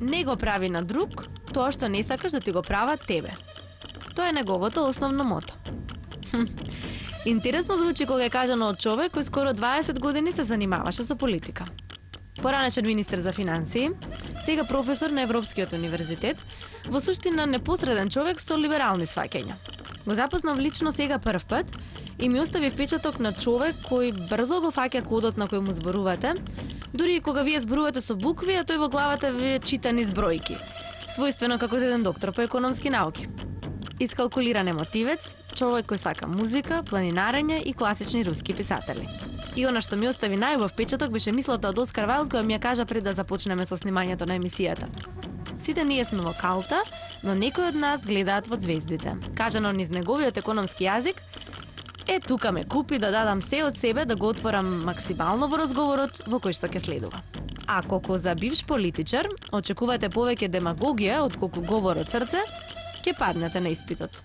Не го прави на друг тоа што не сакаш да ти го прават тебе. Тоа е неговото основно мото. Интересно звучи кога е кажано од човек кој скоро 20 години се занимаваше со политика. Поранешен министер за финансии, сега професор на Европскиот универзитет, во суштина непосреден човек со либерални сваќања. Го запознав лично сега прв пат и ми остави впечаток на човек кој брзо го фаќа кодот на кој му зборувате, дури и кога вие зборувате со букви, а тој во главата ви чита низ бројки, својствено како за еден доктор по економски науки. Искалкулиран емотивец, човек кој сака музика, планинарење и класични руски писатели. И она што ми остави најубав впечаток беше мислата од Оскар Вајлд која ми ја кажа пред да започнеме со снимањето на емисијата. Сите ние сме во калта, но некои од нас гледаат во звездите. Кажано низ неговиот економски јазик, тука ме купи да дадам се од себе да го отворам максимално во разговорот во кој што ќе следува. Ако за бивш политичар очекувате повеќе демагогија отколку говор од срце, ќе паднете на испитот.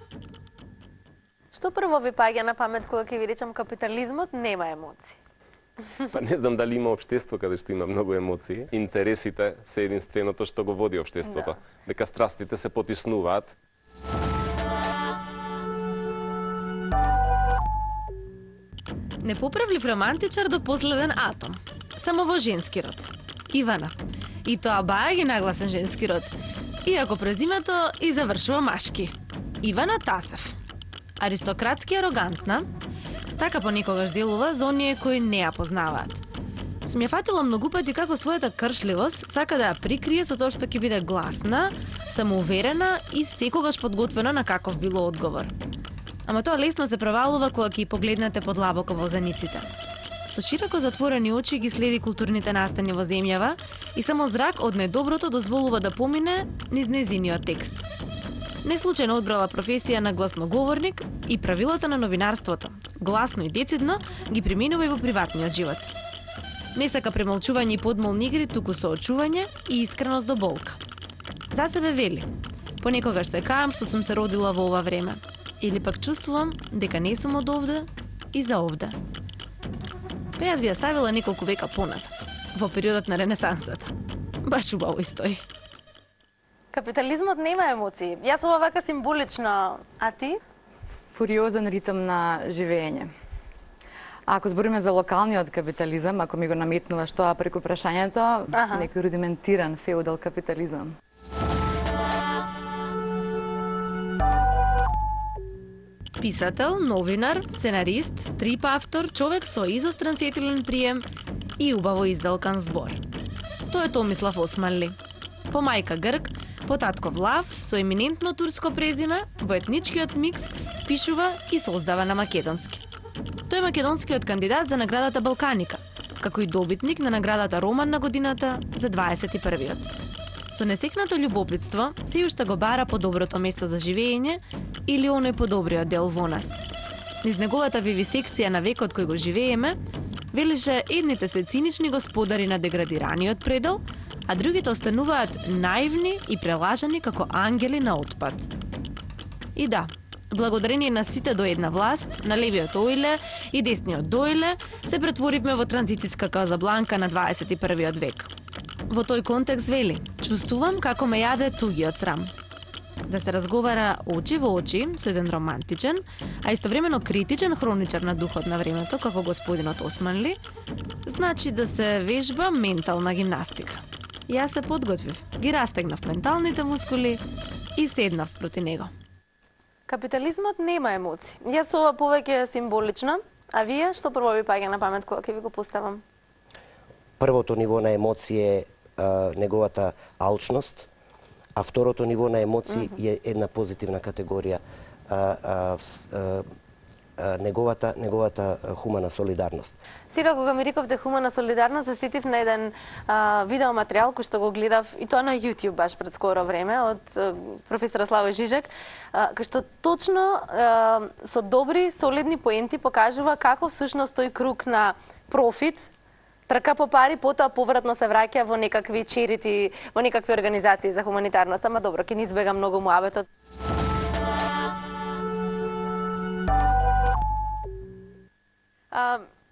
Што прво ви паѓа на памет кога ќе ви речам капитализмот нема емоции? Па не знам дали има општество каде што има многу емоции. Интересите се единственото што го води општеството. Дека страстите се потиснуваат. Непоправлив романтичар до последен атом. Само во женски род. Ивана. И тоа баја ги нагласен женски род. Иако презимето и завршува машки. Ивана Тасев. Аристократски арогантна, така понекогаш делува за оние кои не ја познаваат. Сум ја фатила многу пати како својата кршливост сака да ја прикрие со тоа што ќе биде гласна, самоуверена и секогаш подготвена на каков било одговор. Ама тоа лесно се провалува кога ќе погледнете подлабоко во заниците. Со широко затворени очи ги следи културните настани во земјава и само зрак од недоброто дозволува да помине низ нејзиниот текст. Неслучајно одбрала професија на гласноговорник и правилата на новинарството. Гласно и децидно ги применува и во приватниот живот. Не сака премолчување и подмолни игри, туку соочување и искреност до болка. За себе вели: понекогаш се каам што сум се родила во ова време, или пак чувствувам дека не сум од овде и за овде. Па јас би ја ставила неколку века поназад, во периодот на Ренесансата. Баш убаво стои. Капитализмот нема емоции. Јас ова вака символично, а ти? Фуриозен ритм на живење. Ако збориме за локалниот капитализам, ако ми го наметнуваш тоа преку прашањето, некој рудиментиран феудал капитализам. Писател, новинар, сценарист, стрип автор, човек со изострен сетилен прием и убаво издалкан збор. Тоа е Томислав Османли. По мајка грк, по татко влав, со еминентно турско презиме, во етничкиот микс пишува и создава на македонски. Тој е македонскиот кандидат за наградата Балканика, како и добитник на наградата Роман на годината за 21-виот. Со несекнато љубопитство се уште го бара по доброто место за живење или оној подобриот дел во нас. Низ неговата вивисекција на векот кој го живееме, велише едните се цинични господари на деградираниот предел, а другите остануваат наивни и прелажани како ангели на отпад. И да, благодарение на сите до една власт, на левиот Оиле и десниот Доиле, се претворивме во транзицијска Казабланка на 21 век. Во тој контекст вели: чувствувам како ме јаде тугиот срам. Да се разговара очи во очи со еден романтичен, а истовремено критичен хроничар на духот на времето, како господинот Османли, значи да се вежба ментална гимнастика. Јас се подготвив, ги растегнав менталните мускули и седнав спроти него. Капитализмот нема емоции. Јас ова повеќе символично, а вие што прво ви паѓа на памет кога ќе ви го поставам? Првото ниво на емоции е неговата алчност, а второто ниво на емоции е една позитивна категорија, неговата хумана солидарност. Сега кога ми рековте хумана солидарност, се сетив на еден видеоматеријал кој што го гледав и тоа на YouTube баш пред скоро време од професор Славој Жижек, кој што точно со добри солидни поенти покажува како всушност тој круг на профит трка по пари, потоа повратно се враќа во некакви черити, во некакви организации за хуманитарност. Ама добро, ќе ни избега многу муабетот.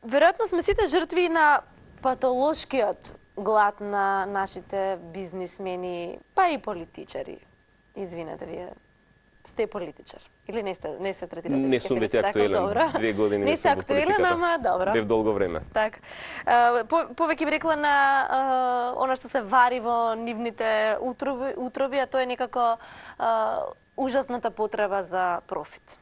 Веројатно сме сите жртви на патолошкиот глад на нашите бизнисмени, па и политичари? Извинете, вие сте политичар или не се третирате? Не сум веќе актуелен. 2 години не се актуелен, ама добро. Бев долго време. Так. Повеќе би рекла на она што се вари во нивните утроби, а тоа е некако ужасната потреба за профит.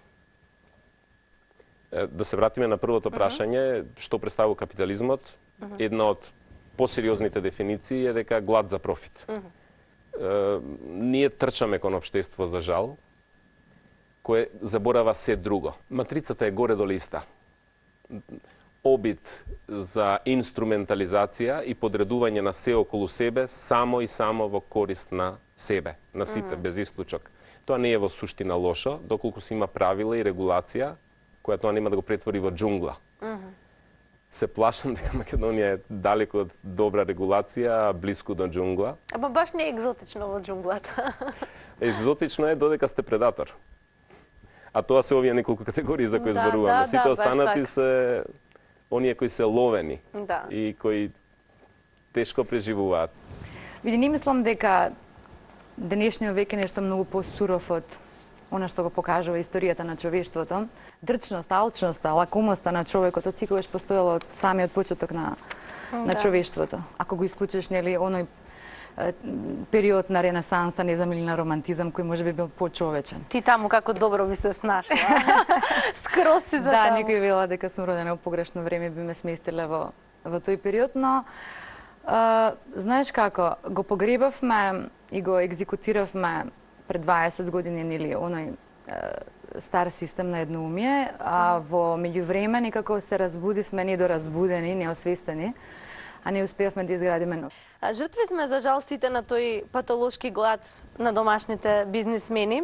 Да се вратиме на првото прашање, што представува капитализмот? Една од посериозните дефиниции е дека глад за профит. Ние трчаме кон општество за жал, кое заборава се друго. Матрицата е горе-долу иста. Обид за инструментализација и подредување на се околу себе само и само во корист на себе, на сите, без исклучок. Тоа не е во суштина лошо, доколку се има правила и регулација, која тоа нема да го претвори во џунгла. Се плашам дека Македонија е далеко од добра регулација, близко до џунгла. Ама баш не е екзотично во џунглата. Екзотично е додека сте предатор. А тоа се овие неколку категории за кои зборуваме. Сите останати се оние кои се ловени и кои тешко преживуваат. Види, не мислам дека денешниот век е нешто многу посуров од она што го покажува историјата на човештвото. Дрчност, алчноста, лакомоста на човекот од секогаш постоело од самиот почеток на човештвото. Ако го исклучиш, нели, оној период на Ренесанса, не знам, или на романтизам, кој може би бил почовечен. Ти таму како добро би се снашла. Скроз си за таму. таму. Да, некој вела дека сум родена во погрешно време, би ме сместиле во тој период, но знаеш како, го погребавме и го екзекутиравме пред 20 години, нели, оној стар систем на едноумие, а во меѓувреме некако се разбудивме недоразбудени, неосвестени, а не успеавме да изградиме нов. Жртви сме, за жал, сите на тој патолошки глад на домашните бизнисмени.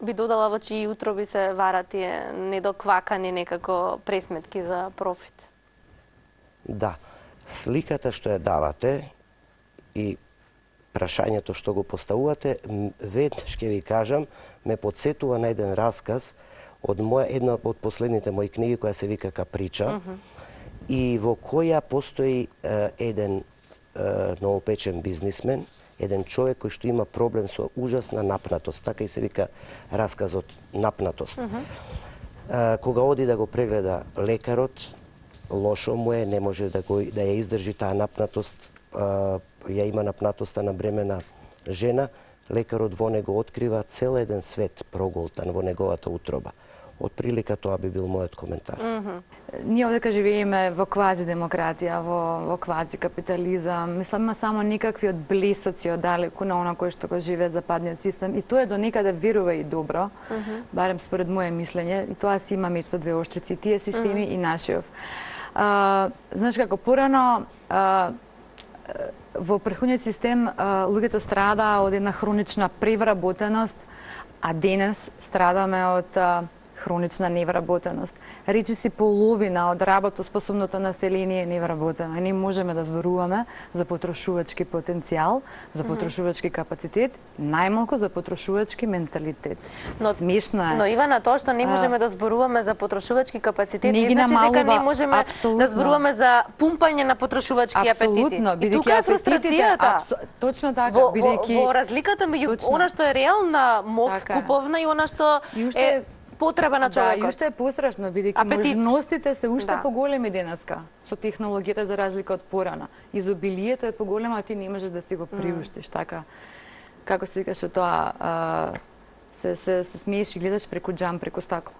Би додала во чии утроби се варат тие недоквакани некако пресметки за профит. Да, сликата што ја давате и прашањето што го поставувате, веднаш ќе ви кажам, ме подсетува на еден расказ од една од последните мои книги која се вика Каприча, и во која постои еден новопечен бизнисмен, еден човек кој што има проблем со ужасна напнатост, така и се вика расказот Напнатост. Кога оди да го прегледа лекарот, лошо му е, не може да ја издржи таа напнатост, ја има напнатоста на бремена жена, лекарот во него открива цел еден свет проголтан во неговата утроба. Од прилика тоа би бил мојот коментар. Ние овдека живееме во квази демократија, во квази капитализам. Мислам, има само никакви од блесоци од далеку на она кој што го живее западниот систем. И тоа е до некаде верува и добро, барем според моје мислење. И тоа си има меѓу двеоштрици, тие системи и нашиот. Знаеш како, порано во претходниот систем луѓето страдаа од една хронична превработеност, а денес страдаме од хронична невработеност. Речиси половина од работоспособното население е невработено. Не можеме да зборуваме за потрошувачки потенцијал, за потрошувачки капацитет, најмалку за потрошувачки менталитет. Смешно е. Но Ивана, тоа што не можеме да зборуваме за потрошувачки капацитет, не значи дека не можеме да зборуваме за пумпање на потрошувачки апетити. И тука е фрустрацијата. Точно така, бидејќи во разликата меѓу она што е реална мок куповна и она што е потреба на човекот. Да, и уште е пострашно, бидејќи можностите се уште поголеми денеска со технологијата за разлика од порана. Изобилието е поголемо, а ти не можеш да си го приуштиш, така. Како се викаше тоа, се смееш и гледаш преку џам, преку стакло.